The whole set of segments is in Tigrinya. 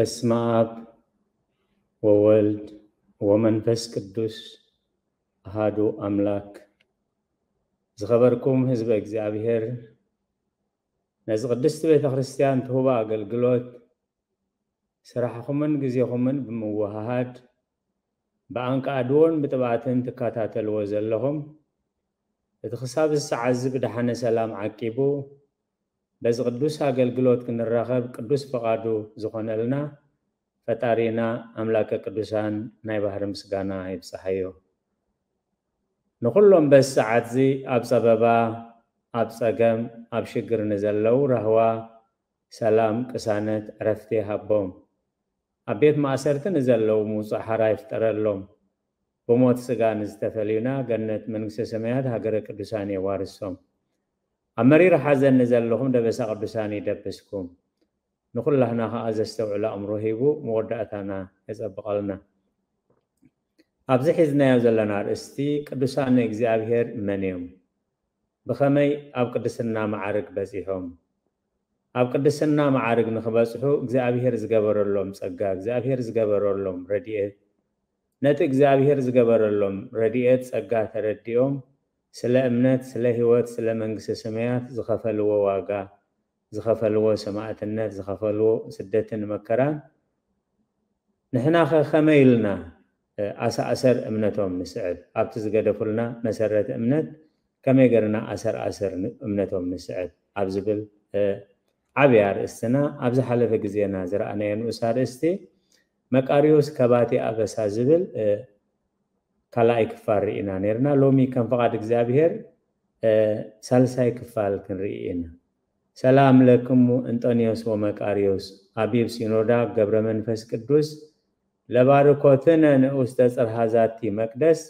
በስመ አብ ወወልድ ወመንፈስ ቅዱስ አሃዱ አምላክ። ዝኸበርኩም ህዝበ እግዚኣብሔር፣ ነዚ ቅድስቲ ቤተ ክርስቲያን ትህቦ ኣገልግሎት ስራሕኹምን ግዜኹምን ብምውህሃድ ብኣንቃድዎን ብጥብኣትን ትከታተልዎ ዘለኹም፣ እቲ ክሳብ እዚ ሰዓት እዚ ብደሓነ ሰላም ዓቂቡ በዚ ቅዱስ ኣገልግሎት ክንራኸብ ቅዱስ ፍቓዱ ዝኾነልና ፈጣሪና ኣምላከ ቅዱሳን ናይ ባህሪ ምስጋና ይብጽሓዮ። ንኹሎም በዚ ሰዓት እዚ ኣብ ጸበባ፣ ኣብ ጸገም፣ ኣብ ሽግር ንዘለዉ ራህዋ፣ ሰላም፣ ቅሳነት፣ ዕረፍቲ ይሃቦም። ኣብ ቤት ማእሰርቲ ንዘለዉ ምውጻእ ሓራ ይፍጠረሎም። ብሞት ስጋ ንዝተፈልዩና ገነት መንግስተ ሰማያት ሃገረ ቅዱሳን የዋርሶም። ኣብ መሪር ሓዘን ንዘለኹም ደበሳ ቅዱሳን ይደብስኩም። ንኹላህና ኸኣ ዘስተውዕሎ ኣእምሮ ሂቡ መወዳእታና የጸብቐልና። ኣብዚ ሒዝናዮ ዘለና ኣርእስቲ ቅዱሳን እግዚኣብሔር መን እዮም? ብኸመይ ኣብ ቅድስና መዓርግ በጺሖም? ኣብ ቅድስና መዓርግ ንኽበጽሑ እግዚኣብሔር ዝገበረሎም ጸጋ፣ እግዚኣብሔር ዝገበረሎም ረድኤት፣ ነቲ እግዚኣብሔር ዝገበረሎም ረድኤት ጸጋ ተረዲኦም ስለ እምነት፣ ስለ ህይወት፣ ስለ መንግስተ ሰማያት ዝኸፈልዎ ዋጋ፣ ዝኸፈልዎ ሰማእትነት፣ ዝኸፈልዎ ስደትን መከራን ንሕናኸ ከመይ ኢልና ኣሰኣሰር እምነቶም ንስዕብ? ኣብቲ ዝገደፉልና መሰረት እምነት ከመይ ገርና ኣሰር ኣሰር እምነቶም ንስዕብ ኣብ ዝብል ዓብይ ኣርእስትና ኣብ ዝሓለፈ ግዜና ዝረኣናዮ ንኡስ ኣርእስቲ መቃርዮስ ከባቲ ኣበሳ ዝብል ካልኣይ ክፋል ርኢና ነርና። ሎሚ ከም ፍቓድ እግዚኣብሔር ሳልሳይ ክፋል ክንርኢ ኢና። ሰላም ለክሙ እንጠንዮስ ወመቃርዮስ፣ ኣቢብ ሲኖዳ ገብረ መንፈስ ቅዱስ፣ ለባርኮትነ ንኡስተ ጽርሃ ዛቲ መቅደስ፣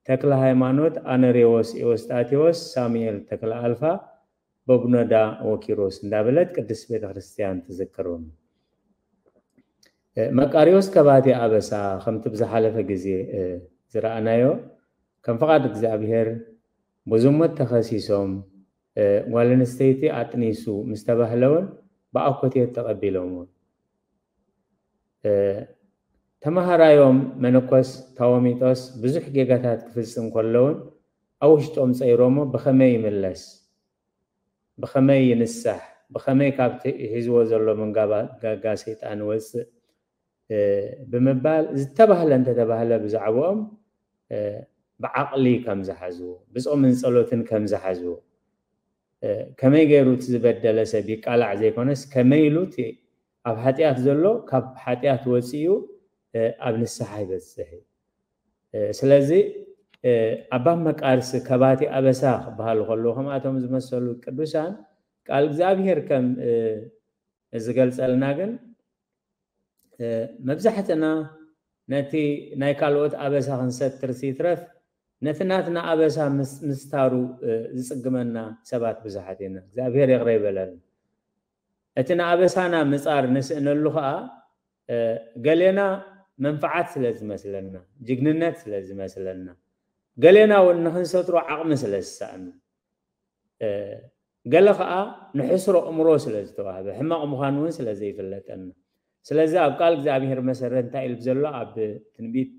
ተክለ ሃይማኖት ኣነሬዎስ ኤዎስጣቴዎስ ሳሙኤል ተክለ ኣልፋ በብኖዳ ወኪሮስ እንዳበለት ቅድስት ቤተክርስትያን ትዝክሮም። መቃርዮስ ከባቲ ኣበሳ ከምቲ ብዝሓለፈ ግዜ ዝረኣናዮ ከም ፍቓድ እግዚኣብሔር ብዝሙት ተኸሲሶም ጓል ኣንስተይቲ ኣጥኒሱ ምስ ተባህለ እውን ብኣኮቴት ተቐቢሎም እውን ተመሃራዮም መነኮስ ታወሚጦስ ብዙሕ ጌጋታት ክፍጽም ከሎ እውን ኣብ ውሽጦም ጸይሮሞ ብኸመይ ይምለስ፣ ብኸመይ ይንሳሕ፣ ብኸመይ ካብቲ ሒዝዎ ዘሎ መንጋጋ ሰይጣን ይወጽእ ብምባል ዝተባህለ እንተተባህለ ብዛዕባኦም ብዓቕሊ ከም ዝሓዝዎ፣ ብጾምን ጸሎትን ከም ዝሓዝዎ፣ ከመይ ገይሩ እቲ ዝበደለ ሰብ ይቃላዕ ዘይኮነስ ከመይ ኢሉ እቲ ኣብ ሓጢኣት ዘሎ ካብ ሓጢኣት ወጺኡ ኣብ ንስሓ ይበጽሕ እዩ። ስለዚ ኣባ መቃርስ ከባቲ ኣበሳ ክበሃሉ ከለዉ ከምኣቶም ዝመሰሉ ቅዱሳን ቃል እግዚኣብሔር ከም ዝገልጸልና ግን መብዛሕትና ነቲ ናይ ካልኦት ኣበሳ ክንሰትር ይትረፍ ነቲ ናትና ኣበሳ ምስታሩ ዝጽግመና ሰባት ብዙሓት ኢና። እግዚኣብሔር ይቕረ ይበለልና። እቲ ንኣበሳና ምጻር ንስእነሉ ኸኣ ገሌና መንፍዓት ስለ ዝመስለና፣ ጅግንነት ስለ ዝመስለና፣ ገሌና እውን ንክንሰትሮ ዓቕሚ ስለ ዝሰኣና፣ ገለ ኸኣ ንሕስሮ እምሮ ስለ ዝተዋህበ ሕማቕ ምዃኑ እውን ስለ ዘይፍለጠና። ስለዚ ኣብ ቃል እግዚኣብሔር መሰረት እንታይ ኢሉ ዘሎ ኣብ ትንቢት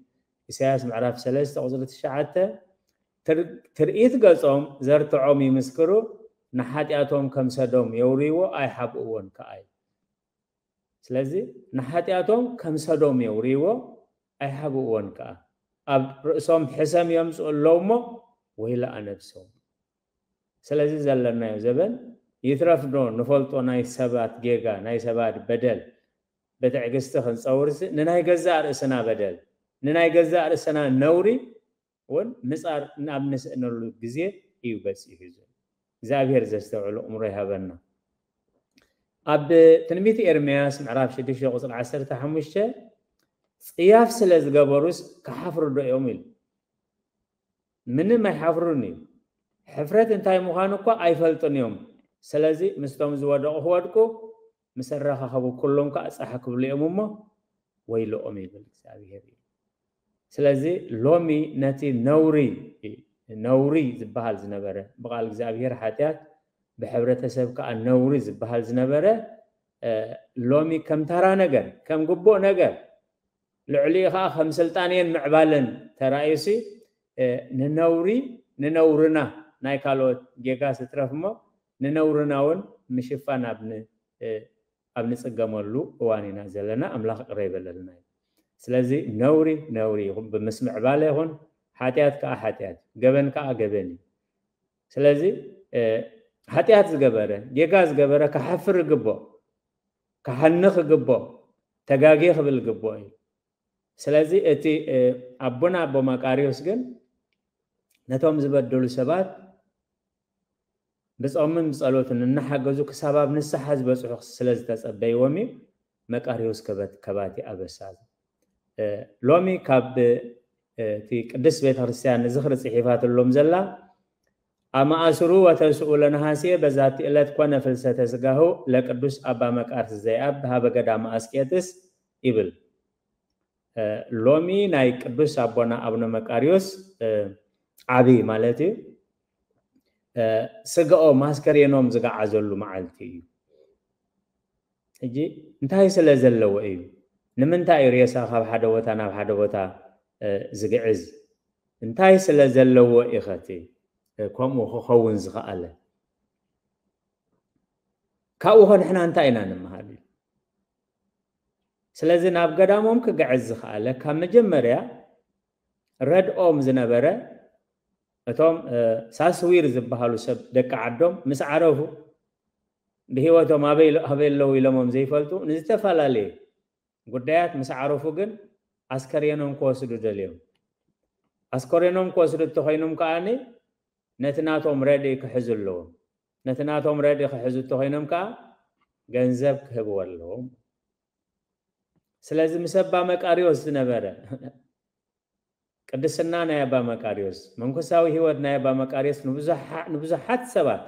ኢሳያስ ምዕራፍ ሰለስተ ቁፅሪ ትሽዓተ ትርኢት ገጾም ዘርትዖም ይምስክሩ፣ ንሓጢኣቶም ከም ሰዶም የውርይዎ ኣይሓብእዎን ከኣ እዩ። ስለዚ ንሓጢኣቶም ከም ሰዶም የውርይዎ ኣይሓብእዎን ከኣ። ኣብ ርእሶም ሕሰም የምፅኡ ኣለዉ እሞ ወይለኣ ነብሶም። ስለዚ ዘለናዮ ዘበን ይትረፍ ዶ ንፈልጦ ናይ ሰባት ጌጋ፣ ናይ ሰባት በደል ብትዕግስቲ ክንፀውርሲ ንናይ ገዛእ ርእስና በደል፣ ንናይ ገዛእ ርእስና ነውሪ እውን ምጻር ናብ ንስእነሉ ግዜ እዩ በጺሑ ዘሎ። እግዚኣብሔር ዘስተውዕሉ እምሮ ይሃበና። ኣብ ትንቢት ኤርምያስ ምዕራፍ ሽዱሽተ ቁጽሪ ዓሰርተ ሓሙሽተ ጽያፍ ስለ ዝገበሩስ ክሓፍሩ ዶ እዮም ኢሉ። ምንም ኣይሓፍሩን እዩ። ሕፍረት እንታይ ምዃኑ እኳ ኣይፈልጡን እዮም። ስለዚ ምስቶም ዝወደቑ ክወድቁ ምስ ኣረኻኸቡ ኩሎም ከዓ ጻሕ ክብሉ እዮም እሞ ወይልኦም ይብል እግዚኣብሔር እዩ። ስለዚ ሎሚ ነቲ ነውሪ ነውሪ ዝበሃል ዝነበረ ብቓል እግዚኣብሔር ሓጢኣት ብሕብረተሰብ ከዓ ነውሪ ዝበሃል ዝነበረ ሎሚ ከም ተራ ነገር፣ ከም ግቡእ ነገር፣ ልዕሊኡ ከዓ ከም ስልጣንየን ምዕባለን ተራእዩሲ፣ ንነውሪ፣ ንነውርና፣ ናይ ካልኦት ጌጋ ስትረፍ እሞ ንነውርና እውን ምሽፋን ኣብ ን- ኣብ ንጽገመሉ እዋን ኢና ዘለና። ኣምላኽ ቅረ ይበለልና እዩ። ስለዚ ነውሪ ነውሪ ይኹን፣ ብምስ ምዕባለ ይኹን፣ ሓጢኣት ከዓ ሓጢኣት፣ ገበን ከዓ ገበን እዩ። ስለዚ ሓጢኣት ዝገበረ፣ ጌጋ ዝገበረ ክሓፍር ይግብኦ፣ ክሓንኽ ይግብኦ፣ ተጋጌ ክብል ይግብኦ እዩ። ስለዚ እቲ ኣቦና ኣቦ መቃርዮስ ግን ነቶም ዝበደሉ ሰባት ብጾምን ብጸሎትን እናሓገዙ ክሳብ ኣብ ንስሓ ዝበጽሑ ስለ ዝተጸበይዎም እዩ መቃርዮስ ከበት- ከባቲ ኣበሳ። ሎሚ ካብ እቲ ቅድስት ቤተ ክርስቲያን ንዝኽሪ ጽሒፋትሎም ዘላ፣ ኣማእስሩ ወተስኡ ለነሐሴ በዛቲ ዕለት ኮነ ፍልሰተ ስጋሁ ለቅዱስ ኣባ መቃርስ ዘይኣብ ሀበ ገዳመ ኣስቄጥስ ይብል። ሎሚ ናይ ቅዱስ ኣቦና ኣቡነ መቃርዮስ ዓቢ ማለት እዩ ስጋኦም ኣስከሬኖም ዝገዓዘሉ መዓልቲ እዩ። ሕጂ እንታይ ስለ ዘለዎ እዩ? ንምንታይ እዩ ሬሳ ካብ ሓደ ቦታ ናብ ሓደ ቦታ ዝግዕዝ? እንታይ ስለ ዘለዎ ኢኸቲ ከምኡ ክኸውን ዝኸኣለ? ካብኡ ኸ ንሕና እንታይ ኢና ንምሃር? ስለዚ ናብ ገዳሞም ክግዕዝ ዝኸኣለ ካብ መጀመርያ ረድኦም ዝነበረ እቶም ሳስዊር ዝበሃሉ ሰብ ደቂ ዓዶም ምስ ዓረፉ ብህይወቶም ኣበይ ኣበይ ኣለዉ ኢሎሞም ዘይፈልጡ ንዝተፈላለየ ጉዳያት ምስ ዓረፉ ግን ኣስከሬኖም ክወስዱ ደልዮም። ኣስከሬኖም ክወስዱ እንተኾይኖም ከዓኒ ነቲ ናቶም ረድኢ ክሕዙ ኣለዎም። ነቲ ናቶም ረድኢ ክሕዙ እንተኾይኖም ከዓ ገንዘብ ክህብዎ ኣለዎም። ስለዚ ምስ ኣባ መቃርዮስ ዝነበረ ቅድስና ናይ ኣባ መቃርዮስ መንፈሳዊ ህይወት ናይ ኣባ መቃርዮስ ንብዙሓት ሰባት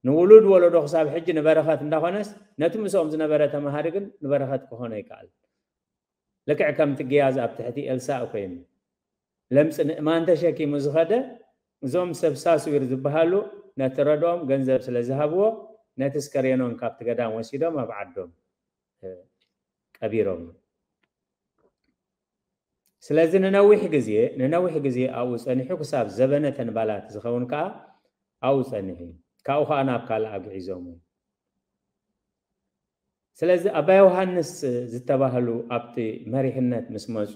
ንውሉድ ወለዶ ክሳብ ሕጂ ንበረኸት እንዳኾነስ ነቲ ምስኦም ዝነበረ ተምሃሪ ግን ንበረኸት ክኾኖ ይከኣል። ልክዕ ከምቲ ግያዝ ኣብ ትሕቲ ኤልሳእ ኮይኑ ለምፂ ንእማን ተሸኪሙ ዝኸደ እዞም ሰብ ሳስዊር ዝበሃሉ ነቲ ረድኦም ገንዘብ ስለ ዝሃብዎ ነቲ ስከሬኖም ካብቲ ገዳም ወሲዶም ኣብ ዓዶም ቀቢሮም። ስለዚ ንነዊሕ ግዜ ንነዊሕ ግዜ ኣብኡ ጸኒሑ ክሳብ ዘበነ ተንባላት ዝኸውን ከኣ ኣብኡ ጸኒሑ እዩ። ካብኡ ከኣ ናብ ካልእ ኣግዒዞም እዩ። ስለዚ ኣባ ዮሃንስ ዝተባህሉ ኣብቲ መሪሕነት ምስ መጹ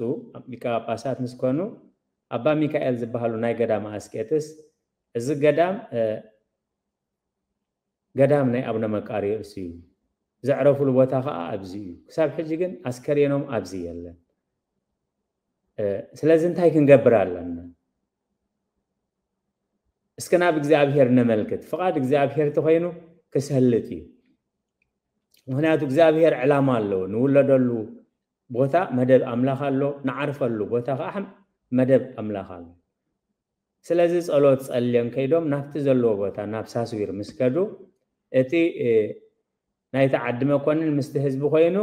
ሊቀ ጳጳሳት ምስ ኮኑ ኣባ ሚካኤል ዝበሃሉ ናይ ገዳም ኣስቄጥስ እዚ ገዳም ገዳም ናይ ኣቡነ መቃርዮስ እዩ። ዘዕረፉሉ ቦታ ከዓ ኣብዚ እዩ። ክሳብ ሕጂ ግን ኣስከሬኖም ኣብዚ የለን። ስለዚ እንታይ ክንገብር ኣለና? እስከ ናብ እግዚኣብሔር ነመልክት። ፍቓድ እግዚኣብሔር ተኾይኑ ክሰልጥ እዩ። ምክንያቱ እግዚኣብሔር ዕላማ ኣለዎ። ንውለደሉ ቦታ መደብ ኣምላኽ ኣሎ፣ ንዓርፈሉ ቦታ ከዓ መደብ ኣምላኽ ኣሎ። ስለዚ ጸሎት ጸልዮም ከይዶም ናብቲ ዘለዎ ቦታ ናብ ሳስዊር ምስ ከዱ እቲ ናይቲ ዓዲ መኮንን ምስቲ ህዝቢ ኮይኑ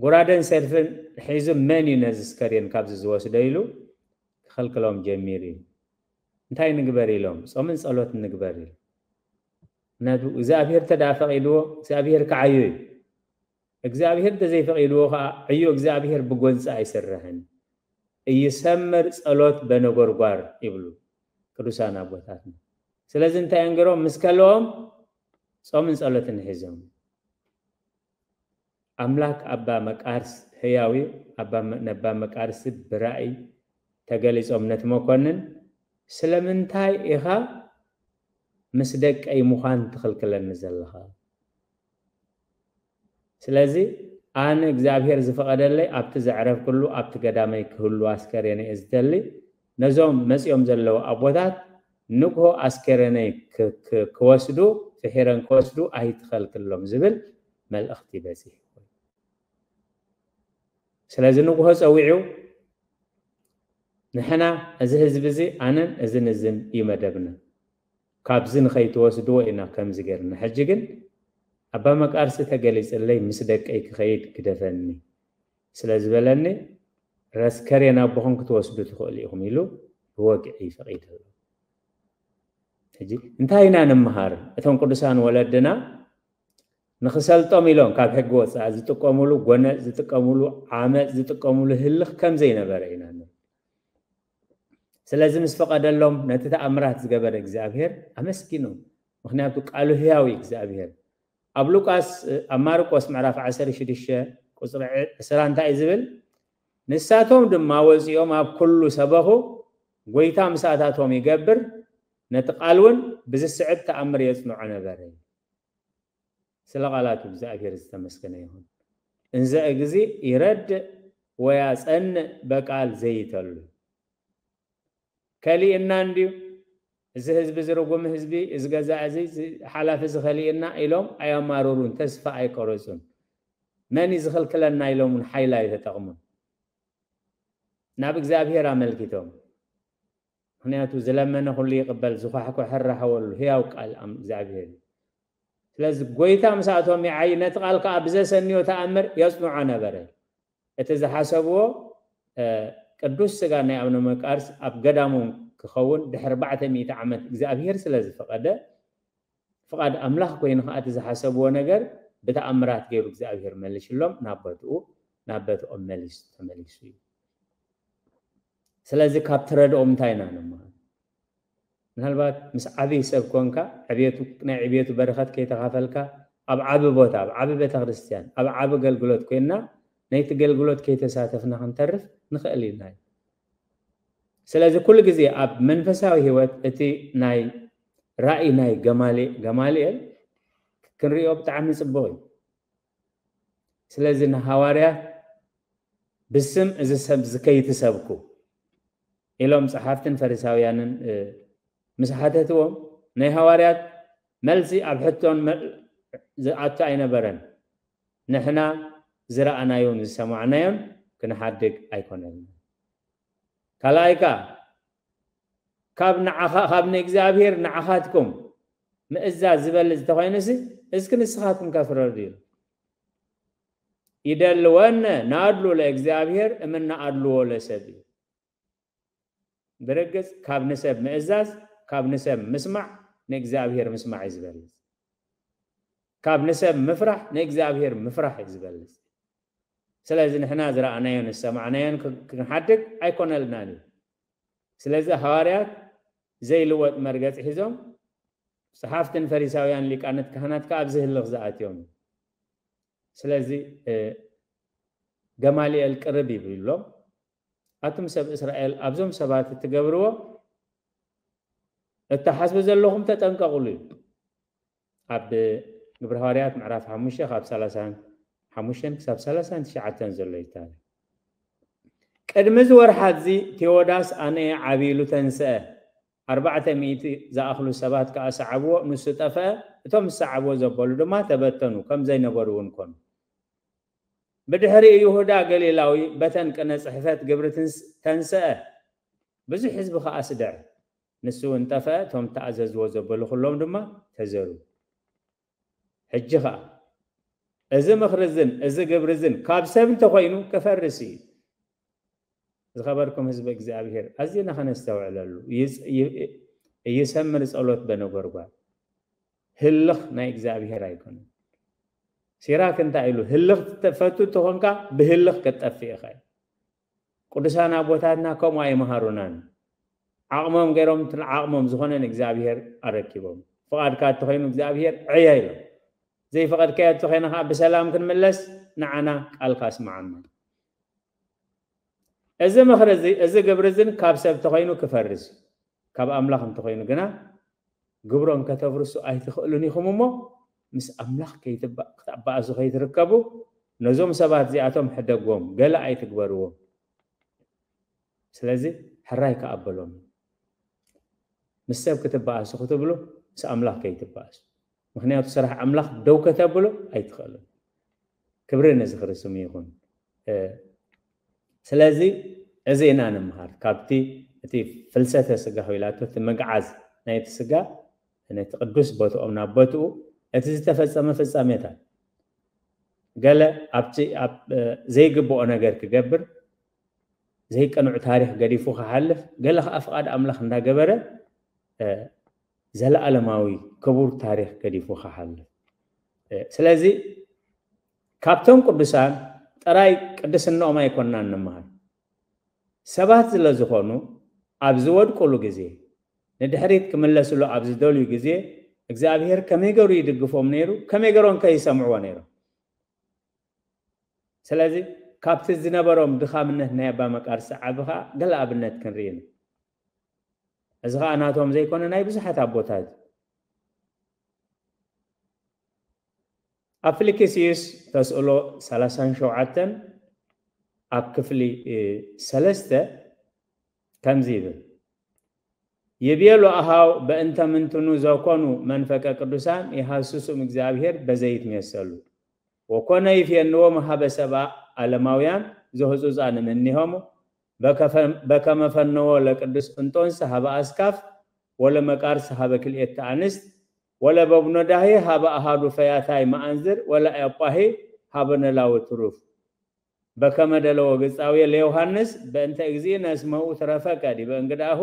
ጎራደን ሰልፍን ሒዙ መን እዩ ነዚ ስከሬን ካብዚ ዝወስዶ ኢሉ ክኸልክሎም ጀሚሩ እዩ። እንታይ ንግበር ኢሎም ጾምን ጸሎት ንግበር ኢሉ ነዱ እግዚኣብሔር ተዳ ፈቒድዎ እግዚኣብሔር ክዓዩ እዩ። እግዚኣብሔር እንተዘይፈቒድዎ ከዓ ዕዮ እግዚኣብሔር ብጎንፂ ኣይስርሕን። እይሰምር ጸሎት በነጎርጓር ይብሉ ቅዱሳን ኣቦታትና። ስለዚ እንታይ እንገሮም ምስ ከለዎም ጾምን ጸሎትን ሒዞም ኣምላክ ኣባ መቃርስ ህያዊ ነባ መቃርስ ብራእይ ተገሊጾም ነቲ መኮንን ስለምንታይ ኢኻ ምስ ደቀይ ምዃን ትኽልክለኒ ዘለኻ? ስለዚ ኣነ እግዚኣብሔር ዝፈቐደለይ ኣብቲ ዘዕረፍኩሉ ኣብቲ ገዳመይ ክህሉ ኣስከሬነ እየ ዝደሊ። ነዞም መጺኦም ዘለዉ ኣቦታት ንግሆ ኣስከሬነይ ክወስዱ ፍሒረን ክወስዱ ኣይትኸልክሎም ዝብል መልእኽቲ በፂሑ። ስለዚ ንግሆ ፀዊዑ ንሕና እዚ ህዝቢ እዚ ኣነን እዝን እዝን እዩ መደብና ካብዚ ንኸይትወስድዎ ኢና ከምዚ ገርና ሕጂ ግን ኣባ መቃርሲ ተገሊፅለይ ምስ ደቀይ ክኸይድ ግደፈኒ ስለ ዝበለኒ ረስከሬን ኣቦኹም ክትወስዱ ትኽእሉ ኢኹም ኢሉ ብወግዒ ፈቒድሉ ሕጂ እንታይ ኢና ንምሃር እቶም ቅዱሳን ወለድና ንኽሰልጦም ኢሎም ካብ ሕጊ ወፃኢ ዝጥቀሙሉ ጎነፅ፣ ዝጥቀሙሉ ዓመፅ፣ ዝጥቀሙሉ ህልኽ ከም ዘይነበረ ኢና ንርኢ። ስለዚ ምስ ፈቐደሎም ነቲ ተኣምራት ዝገበረ እግዚኣብሔር ኣመስጊኖም። ምኽንያቱ ቃሉ ህያው እዩ እግዚኣብሔር። ኣብ ሉቃስ፣ ኣብ ማርቆስ ምዕራፍ ዓሰርተ ሽዱሽተ ቁፅሪ ዕስራ እንታይ እዩ ዝብል? ንሳቶም ድማ ወፂኦም ኣብ ኩሉ ሰበኹ፣ ጎይታ ምሳታቶም ይገብር፣ ነቲ ቃል እውን ብዝስዕብ ተኣምር የፅንዖ ነበረ። ስለ ቃላቱ እግዚኣብሔር ዝተመስገነ ይኹን። እንዘ እግዚእ ይረድእ ወያጸንዕ በቃል ዘይተሉ። ከሊእና እንድዩ፣ እዚ ህዝቢ፣ እዚ ርጉም ህዝቢ፣ እዚ ገዛ እዚ፣ እዚ ሓላፊ እዚ ከሊእና ኢሎም ኣየማርሩን፣ ተስፋ ኣይቆረጹን። መን እዩ ዝኽልክለና ኢሎም እውን ሓይሊ ኣይተጠቕሙን። ናብ እግዚኣብሔር ኣመልኪቶም። ምኽንያቱ ዝለመነ ኩሉ ይቕበል፣ ዝኳሕኮሐ ራህወሉ ህያው ቃል ኣም-፣ እግዚኣብሔር እዩ። ስለዚ ጎይታ ምስኣቶም ይዓይ፣ ነቲ ቃል ከኣ ብዘሰንዮ ተኣምር የጽንዖ ነበረ። እቲ ዝሓሰብዎ፣ እ፣ ቅዱስ ስጋ ናይ ኣቡነ መቃርስ ኣብ ገዳሞም ክኸውን ድሕሪ ኣርባዕተ ሚእቲ ዓመት እግዚኣብሔር ስለ ዝፈቐደ፣ ፍቓድ ኣምላኽ ኮይኑ ከኣ እቲ ዝሓሰብዎ ነገር ብተኣምራት ገይሩ እግዚኣብሔር መልሽሎም ናብ ቦትኡ፣ ናብ ቦትኦም መሊስ-፣ ተመሊሱ እዩ። ስለዚ ካብ ትረድኦም እንታይ ኢና ንመሃር? ምናልባት ምስ ዓብዪ ሰብ ኮንካ፣ ዕቤቱ፣ ናይ ዕቤቱ በረኸት ከይተኻፈልካ፣ ኣብ ዓቢ ቦታ፣ ኣብ ዓቢ ቤተ ክርስቲያን፣ ኣብ ዓቢ ኣገልግሎት ኮይንና፣ ነይቲ ኣገልግሎት ከይተሳተፍና ክንተርፍ ንኽእል ኢና። ስለዚ ኩሉ ግዜ ኣብ መንፈሳዊ ህይወት እቲ ናይ ራእይ ናይ ገማሊ-፣ ገማልኤል ክንሪኦ ብጣዕሚ ጽቡቕ እዩ። ስለዚ ንሃዋርያት ብስም እዚ ሰብ እዚ ከይትሰብኩ ኢሎም ጸሓፍትን ፈሪሳውያንን፣ እ፣ ምስ ሓተትዎም፣ ናይ ሃዋርያት መልሲ ኣብ ሕቶን መ-፣ ዝኣቱ ኣይነበረን። ንሕና ዝረኣናዮን ዝሰማዕናዮን ክንሓድግ ኣይኮነን። ካልኣይ ከኣ፣ ካብ ንዓኻ፣ ካብ ንእግዚኣብሔር ንዓኻትኩም ምእዛዝ ዝበልጽ እንተኾይኑሲ፣ እስኪ ንስኻትኩም ከፍረዱ እዩ። ይደልወነ ናድሉ ለእግዚኣብሔር እምነ ኣድልዎ ለሰብ እዩ። ብርግጽ ካብ ንሰብ ምእዛዝ፣ ካብ ንሰብ ምስማዕ ንእግዚኣብሔር ምስማዕ እዩ ዝበልጽ። ካብ ንሰብ ምፍራሕ ንእግዚኣብሔር ምፍራሕ እዩ ዝበልጽ። ስለዚ ንሕና ዝረኣናዮን ዝሰማዕናዮን ክ-፣ ክንሓድግ ኣይኮነልናን እዩ። ስለዚ ሃዋርያት ዘይልወጥ መርገጽ ሒዞም፣ ጸሓፍትን ፈሪሳውያን ሊቃነት ካህናት ከኣ ኣብዚ ህልኽ ዝኣትዮም። ስለዚ፣ እ፣ ገማልኤል ቅርብ ይብሎም፣ ኣቱም ሰብ እስራኤል፣ ኣብዞም ሰባት እትገብርዎ እትሓስቡ ዘለኹም ተጠንቀቑሉ እዩ። ኣብ ግብረ ሃዋርያት ምዕራፍ ሓሙሽተ ካብ ሰላሳን ሓሙሽተን ክሳብ ሰላሳን ትሽዓተን ዘሎ እዩ ታሪኽ። ቅድሚ እዚ ወርሓት እዚ ቴዎዳስ ኣነ ዓብይሉ ተንስአ፣ ኣርባዕተ ሚእቲ ዝኣኽሉ ሰባት ከኣ ሰዓብዎ፣ ንሱ ጠፍአ፣ እቶም ዝሰዓብዎ ዘበሉ ድማ ተበተኑ፣ ከም ዘይነበሩ እውን ኮኑ። ብድሕሪኡ ይሁዳ ገሊላዊ በተን ቅነ ጽሕፈት ግብሪ ትንስ-፣ ተንስአ፣ ብዙሕ ህዝቢ ከኣ ስደዐ። ንሱ እውን ጠፍአ፣ እቶም ተኣዘዝዎ ዘበሉ ኩሎም ድማ ተዘሩ። ሕጂ ኸኣ እዚ ምኽሪ እዝን እዚ ግብሪ እዝን ካብ ሰብ እንተኾይኑ ክፈርስ እዩ። ዝኸበርኩም ህዝቢ እግዚኣብሔር፣ ኣዚና ኸነስተውዕለሉ። ይጽ-፣ ይ-፣ ይሰምር ጸሎት በነጎድጓድ። ህልኽ ናይ እግዚኣብሔር ኣይኮነን። ሲራክ እንታይ ኢሉ? ህልኽ ትፈቱ እንተኾንካ ብህልኽ ክትጠፍእ ኢኻ። ቅዱሳን ኣቦታትና ከምኡ ኣይመሃሩናን። ዓቕሞም ገይሮም፣ እቲ ዓቕሞም ዝኾነ ንእግዚኣብሔር ኣረኪቦም። ፍቓድካ እንተኾይኑ እግዚኣብሔር ዕየ ኢሎም። ዘይፈቐድካዮ እንተኾይኑ ኸዓ ብሰላም ክንምለስ ንዓና ቃልካ ኣስምዓና። እዚ ምኽሪ እዚ፣ እዚ ግብሪ እዝን ካብ ሰብ እንተኾይኑ ክፈርስ፣ ካብ ኣምላኽ እንተኾይኑ ግና ግብሮም ከተፍርሱ ኣይትኽእሉን ኢኹም እሞ፣ ምስ ኣምላኽ ከይትባ-፣ ክትባኣሱ ከይትርከቡ፣ ነዞም ሰባት እዚኣቶም ሕደግዎም፣ ገለ ኣይትግበርዎም። ስለዚ ሕራይ ከኣ በሎም። ምስ ሰብ ክትባኣሱ ክትብሉ፣ ምስ ኣምላኽ ከይትባኣሱ። ምኽንያቱ ስራሕ ኣምላኽ ደው ከተብሉ ኣይትኽእሉን። ክብሪ ነዚ ክርስሙ ይኹን። እ፣ ስለዚ እዚ ኢና ንምሃር። ካብቲ እቲ ፍልሰተ ስጋ ኮይላቶ፣ እቲ ምግዓዝ ናይቲ ስጋ፣ ነቲ ቅዱስ ቦትኦም ናብ ቦትኡ፣ እቲ ዝተፈጸመ ፍጻሜታት። ገለ ኣብቲ፣ ኣብ፣ እ፣ ዘይግብኦ ነገር ክገብር፣ ዘይቅኑዕ ታሪኽ ገዲፉ ክሓልፍ፣ ገለ ኸዓ ፍቓድ ኣምላኽ እንዳገበረ፣ እ፣ ዘለኣለማዊ ክቡር ታሪኽ ገዲፉ ክሓልፍ። ስለዚ ካብቶም ቅዱሳን ጥራይ ቅድስናኦም ኣይኮንናን ንመሃር። ሰባት ስለ ዝኾኑ ኣብ ዝወድቁሉ ግዜ፣ ንድሕሪት ክምለስሉ ኣብ ዝደልዩ ግዜ እግዚኣብሔር ከመይ ገሩ ይድግፎም ነይሩ፣ ከመይ ገሮም ከ ይሰምዕዎ ነይሮም። ስለዚ ካብቲ ዝነበሮም ድኻምነት ናይ ኣባ መቃርስ ዓቢ ኸኣ ገለ ኣብነት ክንርኢ ኢና። እዚ ኸኣ ናቶም ዘይኮነ ናይ ብዙሓት ኣቦታት እዩ። ኣብ ፊልክስዩስ ተስእሎ ሰላሳን ሸውዓተን ኣብ ክፍሊ ሰለስተ ከምዚ ይብል፣ ይቤሉ ኣሃው በእንተ ምንትኑ ዘኮኑ መንፈቀ ቅዱሳን የሃስሱም እግዚኣብሔር በዘይት መሰሉ ወኮነ ይፍየንዎም ሀበ ሰብአ ዓለማውያን ዘህጹጻን እምኔሆሙ በከመ ፈነዎ ለቅዱስ እንጦንስ ሀበ አስካፍ ወለመቃርስ ሀበ ክልኤተ አንስት ወለበብኖዳሄ ሀበ አሃዱ ፈያታይ መአንዝር ወለአጳሄ ሀበ ነላዊ ትሩፍ በከመ ደለዎ ግጻዊ ለዮሃንስ በእንተ እግዚእነ እስመ ውእቱ ረፈቀ ዲበ እንግዳሁ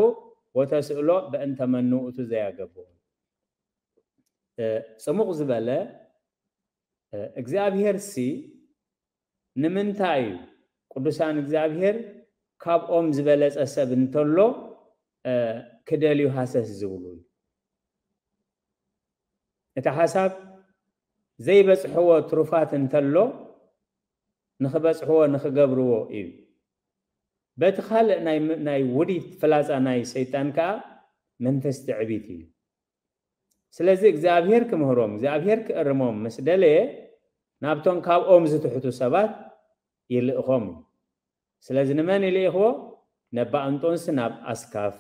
ወተስእሎ በእንተ መኑ ውእቱ ዘያገብኦ። ጽሙቕ ዝበለ እግዚኣብሔር ሲ ንምንታይ እዩ ቅዱሳን እግዚኣብሔር ካብኦም ዝበለጸ ሰብ እንተሎ ክደልዩ ሃሰስ ዝብሉ? እቲ ሓሳብ ዘይበጽሕዎ ትሩፋት እንተሎ ንኽበጽሕዎ ንኽገብርዎ እዩ። በቲ ካልእ ናይ ውዲት ፍላጻ ናይ ሰይጣን ከኣ መንፈስ ትዕቢት እዩ። ስለዚ እግዚኣብሔር ክምህሮም እግዚኣብሔር ክእርሞም ምስ ደለየ ናብቶም ካብኦም ዝትሕቱ ሰባት ይልእኾም እዩ። ስለዚ ንመን ይልእኽዎ? ነባ እንጦንስ ናብ ኣስካፍ፣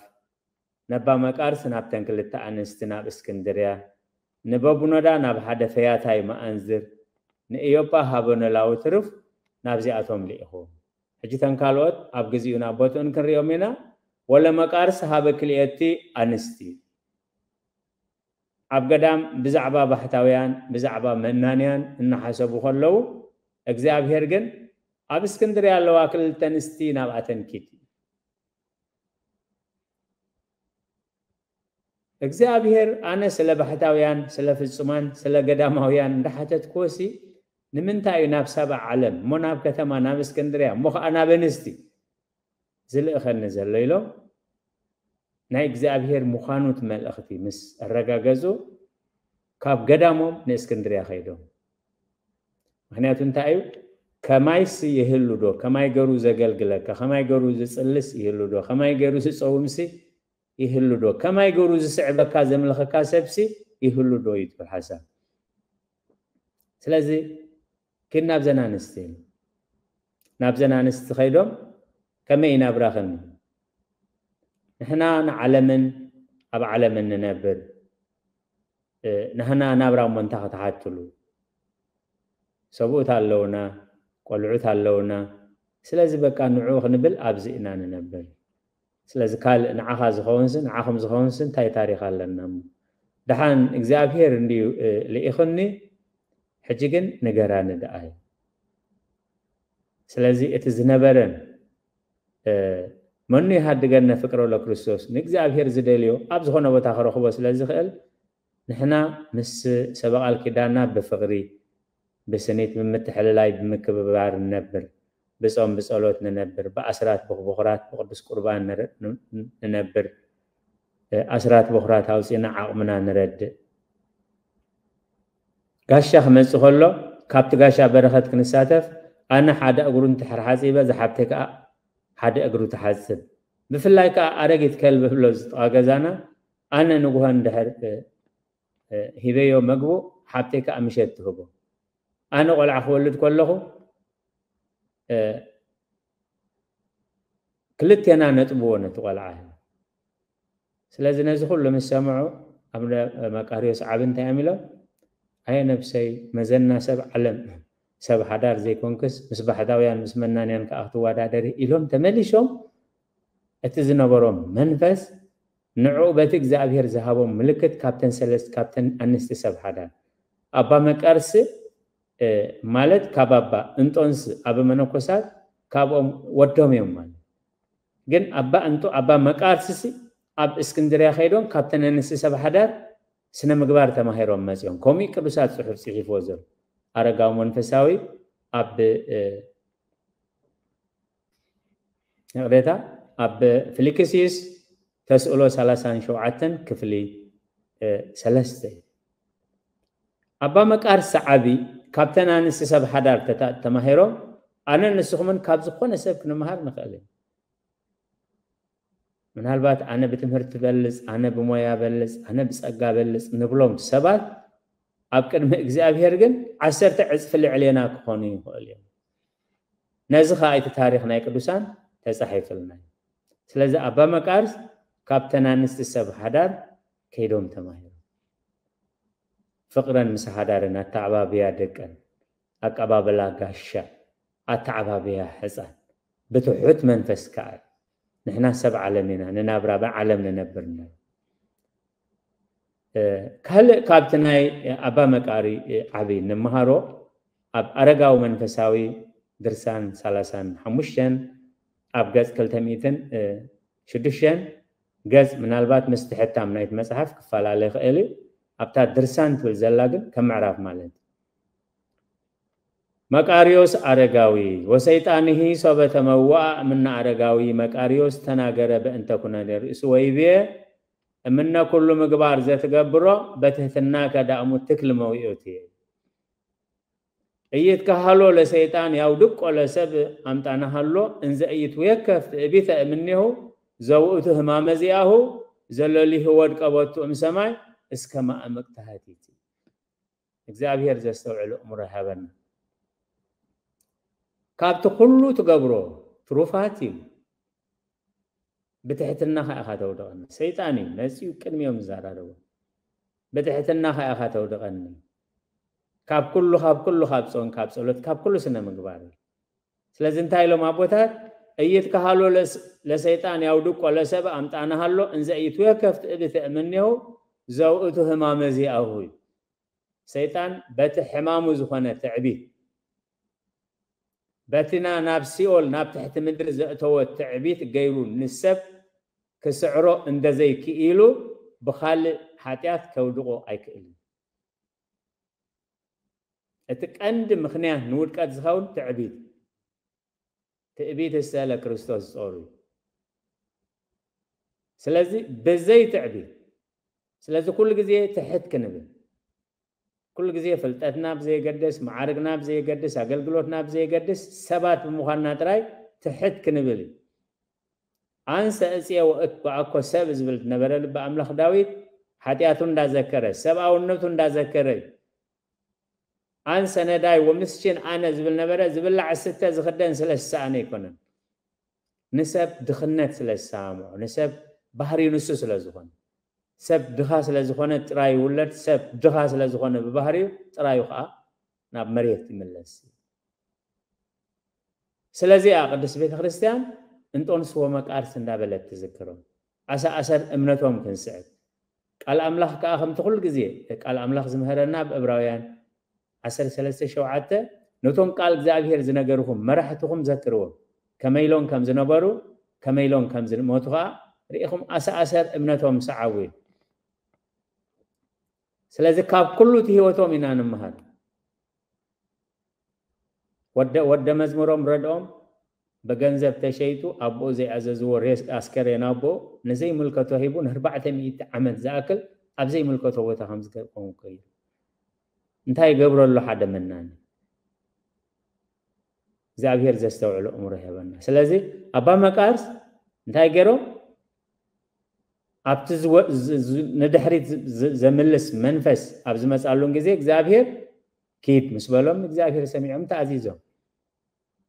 ነባ መቃርስ ናብተን ክልተ ኣንስቲ ናብ እስክንድርያ፣ ንበቡኖዳ ናብ ሓደ ፈያታይ መኣንዝር፣ ንእዮጳ ሃበ ኖላዊ ትርፍ ናብዚኣቶም ልኢኽዎም። ሕጂ ተን ካልኦት ኣብ ግዚኡ ናብ ቦትኡን ክንሪኦም ኢና። ወለ መቃርስ ሃበ ክልኤቲ ኣንስቲ ኣብ ገዳም ብዛዕባ ባሕታውያን ብዛዕባ መናንያን እናሓሰቡ ከለዉ እግዚኣብሔር ግን ኣብ እስክንድርያ ኣለዋ ክልተ ኣንስቲ ናብኣተን ኪድ እግዚኣብሔር ኣነ ስለ ባሕታውያን ስለ ፍጹማን ስለ ገዳማውያን እንዳሓተትክዎሲ ንምንታይ እዩ ናብ ሰብዓ ዓለም እሞ ናብ ከተማ ናብ እስክንድርያ እሞ ከዓ ናብ ኣንስቲ ዝልእኸኒ ዘሎ ኢሎም ናይ እግዚኣብሔር ምዃኑ እቲ መልእኽቲ ምስ ኣረጋገጹ ካብ ገዳሞም ንእስክንድርያ ከይዶም። ምክንያቱ እንታይ እዩ? ከማይስ ይህሉ ዶ? ከማይ ገሩ ዘገልግለካ፣ ከማይ ገሩ ዝጽልስ ይህሉ ዶ? ከማይ ገሩ ዝጸውምሲ ይህሉ ዶ? ከማይ ገሩ ዝስዕበካ ዘምልኸካ ሰብሲ ይህሉ ዶ እዩ ትብል ሓሳብ። ስለዚ ግን ናብዘን ኣንስቲ ናብዘን ኣንስቲ ከይዶም ከመይ ይናብራኽን ንሕና ንዓለምን ኣብ ዓለምን ንነብር ናህና ናብራ እሞ እንታ ክትሓትሉ ሰብኡት ኣለውና ቆልዑት ኣለውና ስለዚ በቃ ንዑ ክንብል ኣብዚ ኢና ንነብር ስለዚ ካልእ ንዓኻ ዝኸውንስ ንዓኹም ዝኸውንስ እንታይ ታሪኽ ኣለና እሞ ደሓን እግዚኣብሔር እንድዩ ልኢኽኒ ሕጂ ግን ንገራኒ ደኣ እዩ ስለዚ እቲ ዝነበረን መኑ ይሃድገነ ፍቅሮ ለክርስቶስ ንእግዚኣብሔር ዝደልዮ ኣብ ዝኾነ ቦታ ክረኽቦ ስለ ዝኽእል ንሕና ምስ ሰበቓል ኪዳና ብፍቕሪ ብስኒት ብምትሕልላይ ብምክብባር ንነብር ብጾም ብጸሎት ንነብር ብኣስራት ብኽቡራት ብቅዱስ ቁርባን ንነብር ኣስራት ብኹራት ኣውፂና ዓቕምና ንረድእ ጋሻ ክመፅእ ከሎ ካብቲ ጋሻ በረኸት ክንሳተፍ ኣነ ሓደ እግሩ እንትሕር ሓፂበ ዝሓብተይ ከዓ ሓደ እግሩ ትሓፅብ ብፍላይ ከዓ ኣረጊት ከልቢ ብሎ ዝጥቓ ገዛና ኣነ ንጉሆ እንድሕር ሂበዮ መግቡ ሓብተይ ከዓ ምሸት ትህቦ ኣነ ቆልዓ ክወልድ ከለኹ ክልቴና ነጥብዎ ነቲ ቆልዓ ስለዚ ነዚ ኩሉ ምስ ሰምዑ ኣቡነ መቃርዮስ ዓቢ እንታይ እዮም ኢሎም ኣየ ነብሰይ መዘና ሰብ ዓለም ሰብ ሓዳር ዘይኮንክስ ምስ ባሕታውያን ምስ መናንያን ከዓ ክትወዳደሪ ኢሎም ተመሊሾም እቲ ዝነበሮም መንፈስ ንዕኡ በቲ እግዚኣብሔር ዝሃቦም ምልክት ካብተን ሰለስት ካብተን ኣንስቲ ሰብ ሓዳር ኣባ መቃርስ ማለት ካብ ኣባ እንጦንስ ኣብ መነኮሳት ካብኦም ወዶም እዮም ማለት ግን ኣባ እንጦ ኣባ መቃርስሲ ኣብ እስክንድርያ ከይዶም ካብተን ኣንስቲ ሰብ ሓዳር ስነ ምግባር ተማሂሮም መፅዮም። ከምኡ ቅዱሳት ፅሑፍ ፅሒፍዎ ዘሎ ኣረጋዊ መንፈሳዊ ኣብ ይቕሬታ ኣብ ፊልክስዩስ ተስእሎ ሰላሳን ሸውዓተን ክፍሊ ሰለስተ እዩ። ኣባ መቃርስ ዓቢ ካብተን ኣንስቲ ሰብ ሓዳር ተማሂሮም ኣነ ንስኹምን ካብ ዝኾነ ሰብ ክንመሃር ንኽእል እዩ። ምናልባት ኣነ ብትምህርቲ በልፅ፣ ኣነ ብሞያ በልፅ፣ ኣነ ብፀጋ በልፅ ንብሎም ሰባት ኣብ ቅድሚ እግዚኣብሔር ግን ዓሰርተ ዕፅፊ ልዕሌና ክኾኑ ይኽእል እዮም። ነዚ ከዓ እቲ ታሪኽ ናይ ቅዱሳን ተፃሒፍልና እዩ። ስለዚ ኣባ መቃርስ ካብተን ኣንስቲ ሰብ ሓዳር ከይዶም ተማሂሮም ፍቅረን ምስ ሓዳርን ኣተዓባብያ ደቀን ኣቀባብላ ጋሻ ኣተዓባብያ ሕፃን ብትሑት መንፈስ ከዓ ንሕና ሰብ ዓለም ኢና ንናብራ ብዓለም ንነብር ኢና። ካልእ ካብቲ ናይ ኣባ መቃሪ ዓቢ ንምሃሮ ኣብ ኣረጋዊ መንፈሳዊ ድርሳን ሰላሳን ሓሙሽተን ኣብ ገጽ ክልተ ሚእትን ሽዱሽተን ገጽ ምናልባት ምስቲ ሕታም ናይቲ መጽሓፍ ክፈላለ ይኽእል እዩ። ኣብታ ድርሳን ትብል ዘላ ግን ከም ምዕራፍ ማለት መቃርዮስ ኣረጋዊ ወሰይጣንሂ ሶበ ተመዋእ እምነ ኣረጋዊ መቃርዮስ ተናገረ በእንተ ኩነኔ ርእሱ ወይቤ እምነ ኩሉ ምግባር ዘትገብሮ በትህትና ከዳእሙ ትክል መዊኦት እየ። እይት ከሃሎ ለሰይጣን ያውድቆ ለሰብ ኣምጣናሃሎ እንዘ እይት ወየከፍ ትእቢተ እምኔሁ ዘውእቱ ህማመ ዚኣሁ ዘለሊሁ ወድቀ ቦቱ እምሰማይ እስከ ማእምቅ ተሃቲት። እግዚኣብሔር ዘስተውዕል እእምሮ ይሃበና። ካብቲ ኩሉ ትገብሮ ትሩፋት እዩ። ብትሕትና ከኣ ኢኻ ተውድቐኒ። ሰይጣን እዩ መጺኡ ቅድሚኦም ዝዛራረቦ። ብትሕትና ከኣ ኢኻ ተውድቐኒ። ካብ ኩሉ ካብ ኩሉ ካብ ጾም ካብ ጸሎት ካብ ኩሉ ስነ ምግባር እዩ። ስለዚ እንታይ ኢሎም ኣቦታት እይትከሃሎ ለሰይጣን ያውድቆ ለሰብ ኣምጣናሃሎ እንዘ እይትወከፍ ትእብት እምኔሁ ዘውእቱ ህማመ ዚኣሁ እዩ። ሰይጣን በቲ ሕማሙ ዝኾነ ትዕቢት በቲና ናብ ሲኦል ናብ ትሕቲ ምድሪ ዘእተወ ትዕቢት ገይሩ ንሰብ ክስዕሮ እንደዘይክኢሉ ብኻልእ ሓጢኣት ከውድቆ ኣይክእልን። እቲ ቀንዲ ምኽንያት ንውድቀት ዝኸውን ትዕቢት ትዕቢት እሰ ለክርስቶስ ጾሩ። ስለዚ ብዘይ ትዕቢት ስለዚ ኩሉ ግዜ ትሕት ክንብል ኩሉ ግዜ ፍልጠትና ብዘየገድስ መዓርግና ብዘየገድስ ኣገልግሎትና ብዘየገድስ ሰባት ብምዃንና ጥራይ ትሕት ክንብል እዩ። ኣንሰ እፅየ ወእትበኣኮ ሰብ ዝብል ዝነበረ ልቢ ኣምላኽ ዳዊት ሓጢኣቱ እንዳዘከረ ሰብኣውነቱ እንዳዘከረ እዩ። ኣንሰ ነዳይ ወምስኪን ኣነ ዝብል ነበረ። ዝብላዕ ዝስተ ዝኽደን ስለ ዝሰኣነ ኣይኮነን። ንሰብ ድኽነት ስለ ዝሰማምዖ ንሰብ ባህሪኡ ንሱ ስለ ዝኾነ ሰብ ድኻ ስለ ዝኾነ ጥራይ ይውለድ። ሰብ ድኻ ስለ ዝኾነ ብባህሪኡ ጥራዩ ከዓ ናብ መሬት ይምለስ። ስለዚኣ ቅድስት ቤተ ክርስቲያን እንጦንስ ወመቃርስ እንዳበለት ትዝክሮም። ኣሰኣሰር እምነቶም ክንስዕብ ቃል ኣምላኽ ከዓ ከምቲ ኩሉ ግዜ ቃል ኣምላኽ ዝምህረና ኣብ እብራውያን ዓሰርተ ሰለስተ ሸውዓተ ነቶም ቃል እግዚኣብሔር ዝነገርኹም መራሕትኹም ዘክርዎም ከመይ ኢሎም ከም ዝነበሩ ከመይ ኢሎም ከም ዝሞቱ ከዓ ርኢኹም ኣሰኣሰር እምነቶም ሰዓቡ እዩ። ስለዚ ካብ ኩሉ እቲ ህይወቶም ኢና ንምሃር። ወደ ወደ መዝሙሮም ረድኦም ብገንዘብ ተሸይጡ ኣቦኡ ዘይኣዘዝዎ ሬስ ኣስከሬን ኣቦኡ ንዘይምልከቶ ሂቡ ንኣርባዕተ ሚእቲ ዓመት ዝኣክል ኣብ ዘይምልከቶ ቦታ ከም ዝከውን ኮይኑ እንታይ ይገብሮ ኣሎ ሓደ መናኒ እግዚኣብሔር ዘስተውዕሎ እምሮ ይህበና። ስለዚ ኣባ መቃርስ እንታይ ገይሮም ኣብቲ ንድሕሪት ዘምልስ መንፈስ ኣብ ዝመፃሉን ግዜ እግዚኣብሔር ኪድ ምስ በሎም እግዚኣብሔር ሰሚዖም ተኣዚዞም።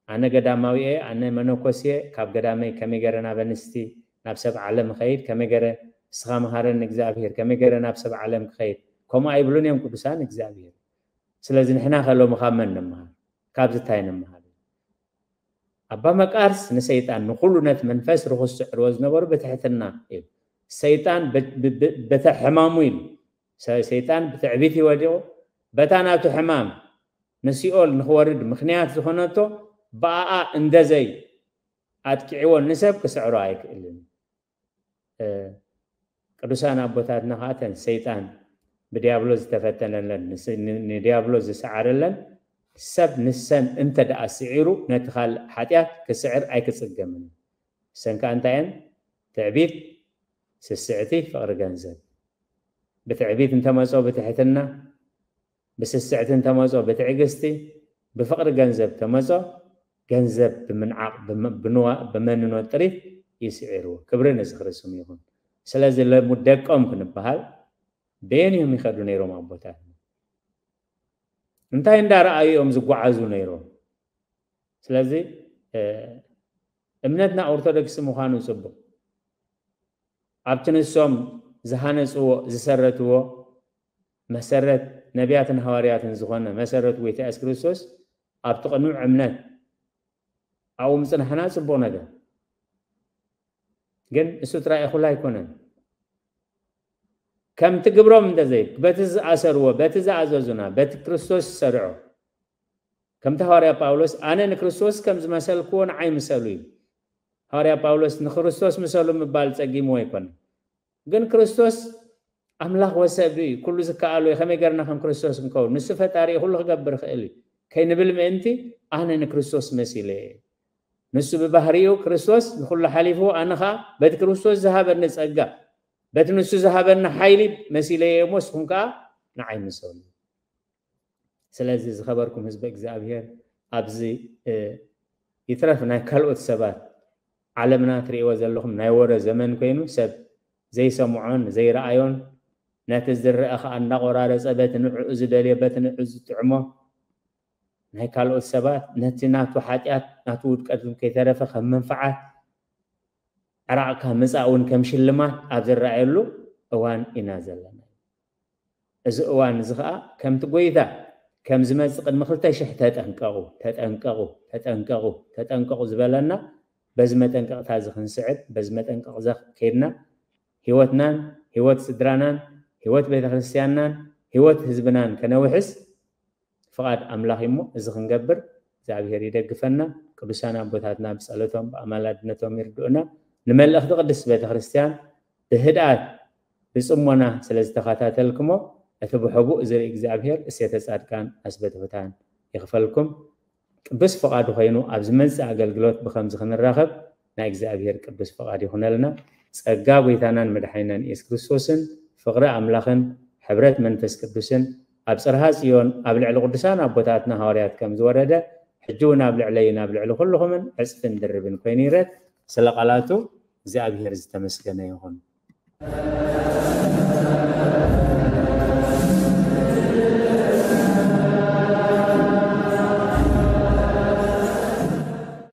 ኣነ ገዳማዊ እየ፣ ኣነ መነኮስ እየ፣ ካብ ገዳመይ ከመይ ገረ ናብ ኣንስቲ ናብ ሰብ ዓለም ኸይድ ከመይ ገረ ንስኻ መሃረኒ እግዚኣብሔር ከመይ ገረ ናብ ሰብ ዓለም ክኸይድ ከምኡ ኣይብሉን እዮም ቅዱሳን እግዚኣብሔር። ስለዚ ንሕና ከ ሎሚ ካብ መን ንምሃር? ካብዚ እንታይ ንምሃር? ኣባ መቃርስ ንሰይጣን ንኹሉ ነቲ መንፈስ ርኹስ ዝዕርቦ ዝነበሩ ብትሕትና እዩ። ሰይጣን በተ ሕማሙ ኢሉ ሰይጣን ብትዕቢት ይወዲቑ በታ ናቱ ሕማም ንሲኦል ንኽወርድ ምኽንያት ዝኾነቶ ብኣኣ እንደዘይ ኣጥቂዕዎ ንሰብ ክስዕሮ ኣይክእልን። ቅዱሳን ኣቦታትና ከዓ ተን ሰይጣን ብዲያብሎስ ዝተፈተነለን ንስ- ን- ንዲያብሎስ ዝሰዓረለን ሰብ ንሰን እንተ ደኣ ስዒሩ ነቲ ካልእ ሓጢኣት ክስዕር ኣይክጽገምን እዩ። እሰን ከኣ እንታይ እየን? ትዕቢት፣ ስስዕቲ፣ ፍቕሪ ገንዘብ። ብትዕቢት እንተመጾ ብትሕትና፣ ብስስዕቲ እንተመጾ ብትዕግስቲ፣ ብፍቕሪ ገንዘብ ተመጾ ገንዘብ ብምንዓቕ ብመ- ብንዋ- ብመንኖት ጥሪት ይስዒርዎ። ክብሪ ንዝኽሪ ስሙ ይኹን። ስለዚ ለሙ ደቆም ክንበሃል በየን እዮም ይኸዱ ነይሮም ኣቦታት? እንታይ እንዳረኣዩ እዮም ዝጓዓዙ ነይሮም? ስለዚ እምነትና ኦርቶዶክስ ምዃኑ ጽቡቕ፣ ኣብቲ ንሶም ዝሃነፅዎ ዝሰረትዎ መሰረት ነቢያትን ሃዋርያትን ዝኾነ መሰረት ጎይታ የሱስ ክርስቶስ ኣብቲ ቅኑዕ እምነት ኣብኡ ምፅናሕና ፅቡቕ ነገር። ግን እሱ ጥራይ እኹል ኣይኮነን። ከምቲ ግብሮም እንተዘይ በቲ ዝኣሰርዎ በቲ ዝኣዘዙና በቲ ክርስቶስ ዝሰርዖ ከምቲ ሃዋርያ ጳውሎስ ኣነ ንክርስቶስ ከም ዝመሰልክዎ ንዓይ ምሰሉ እዩ። ሃዋርያ ጳውሎስ ንክርስቶስ ምሰሉ ምባል ጸጊምዎ ኣይኮነን። ግን ክርስቶስ ኣምላኽ ወሰብ እዩ፣ ኩሉ ዝከኣሎ እዩ። ከመይ ገርና ከም ክርስቶስ ክንከውን? ንሱ ፈጣሪ እዩ፣ ኩሉ ክገብር ይኽእል እዩ ከይንብል ምእንቲ ኣነ ንክርስቶስ መሲለ እየ። ንሱ ብባህሪኡ ክርስቶስ ንኩሉ ሓሊፉ ኣነ ኸዓ በቲ ክርስቶስ ዝሃበኒ ጸጋ በቲ ንሱ ዝሃበኒ ሓይሊ መሲለ እየ እሞ ንስኹም ከኣ ንዓይ ምሰሉ። ስለዚ ዝኸበርኩም ህዝቢ እግዚኣብሔር ኣብዚ ይትረፍ ናይ ካልኦት ሰባት ዓለምና ትርእይዎ ዘለኹም ናይ ወረ ዘመን ኮይኑ ሰብ ዘይሰምዖን ዘይረኣዮን ነቲ ዝረአ ከዓ እንዳቆራረፀ በቲ ንዕኡ ዝደልዮ በቲ ንዕኡ ዝጥዕሞ ናይ ካልኦት ሰባት ነቲ ናቱ ሓጢኣት ናቱ ውድቀት ከይተረፈ ከም መንፈዓት ዕራቕካ ምፃእ እውን ከም ሽልማት ኣብ ዝረኣየሉ እዋን ኢና ዘለና። እዚ እዋን እዚ ከዓ ከምቲ ጎይታ ከም ዝመፅእ ቅድሚ ክልተ ሽሕ ተጠንቀቑ ተጠንቀቑ ተጠንቀቑ ተጠንቀቑ ዝበለና በዚ መጠንቀቕታ እዚ ክንስዕብ በዚ መጠንቀቕ እዚ ከይድና ህይወትናን ህይወት ስድራናን ህይወት ቤተክርስትያንናን ህይወት ህዝብናን ከነውሕስ ፍቓድ ኣምላኽ እሞ እዚ ክንገብር እግዚኣብሔር ይደግፈና። ቅዱሳን ኣቦታትና ብጸሎቶም ብኣማላድነቶም ይርድኡና። ንመልእኽቲ ቅድስት ቤተክርስትያን ብህድኣት ብጽሞና ስለ ዝተኸታተልክሞ እቲ ብሕቡእ ዝርኢ እግዚኣብሔር እሴተ ጻድቃን ኣስበትሑታን ይኽፈልኩም። ቅዱስ ፍቓዱ ኮይኑ ኣብ ዝመጽእ ኣገልግሎት ብኸምዚ ክንራኸብ ናይ እግዚኣብሔር ቅዱስ ፍቓድ ይኹነልና። ጸጋ ጎይታናን መድሓኒናን ኢየሱስ ክርስቶስን ፍቕሪ ኣምላኽን ሕብረት መንፈስ ቅዱስን ኣብ ጽርሃ ጽዮን ኣብ ልዕሊ ቅዱሳን ኣቦታትና ሃዋርያት ከም ዝወረደ ሕጂ እውን ኣብ ልዕለይን ኣብ ልዕሊ ኩልኹምን ዕጽፍን ድርብን ኮይኑ ይረት። ስለ ቃላቱ እግዚኣብሔር ዝተመስገነ ይኹን።